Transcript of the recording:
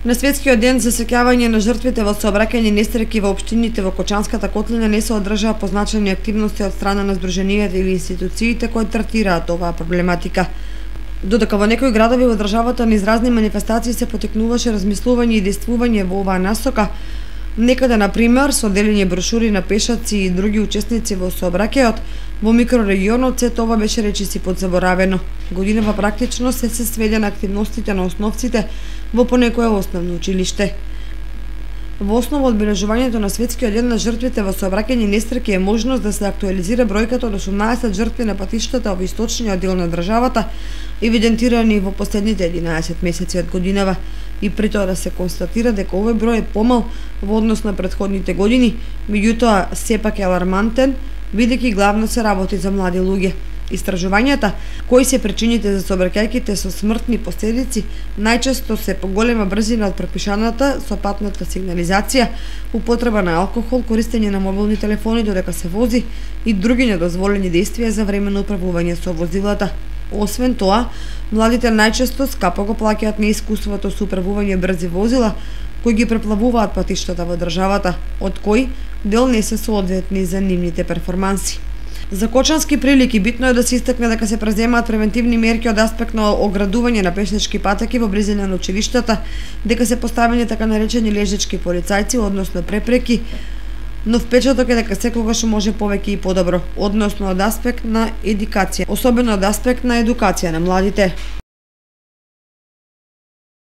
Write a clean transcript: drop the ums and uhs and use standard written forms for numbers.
На светскиот ден за сеќавање на жртвите во сообраќајни несреќи во општините во Кочанската котлина не се одржаа позначени активности од страна на здруженијата или институциите кои третираат оваа проблематика. Додека во некои градови во државата низ разни манифестации се потекнуваше размислување и действување во оваа насока, некаде, например, со делење брошури на пешаци и други учесници во сообраќајот, во микрорегионот сето ова беше речиси подзаборавено. Годинава практично се сведе на активностите на основците во понекое основно училиште. Во основа одбележувањето на светскиот ден на жртвите во сообраќајни несреќи е можност да се актуализира бројката од 18 жртви на патиштата во источниот дел на државата, евидентирани во последните 11 месеци од годинава, и при тоа да се констатира дека овој број е помал во однос на претходните години, меѓутоа сепак е алармантен, бидејќи главно се работи за млади луѓе. Истражувањата, кои се причините за сообраќајките со смртни последици, најчесто се поголема брзина од пропишаната со патната сигнализација, употреба на алкохол, користење на мобилни телефони додека се вози и други недозволени действија за време на управување со возилата. Освен тоа, младите најчесто скапо го плаќаат неискуството со управување брзи возила, кои ги преплавуваат патиштата во државата, од кои дел не се соодветни за нивните перформанси. За кочански прилики битно е да се истакне дека се преземаат превентивни мерки од аспект на оградување на пешнички патеки во близина на училиштата, дека се поставени така наречени лежачки полицајци, односно препреки, но впечаток е дека секогаш може повеќе и подобро, односно од аспект на едукација, особено од аспект на едукација на младите.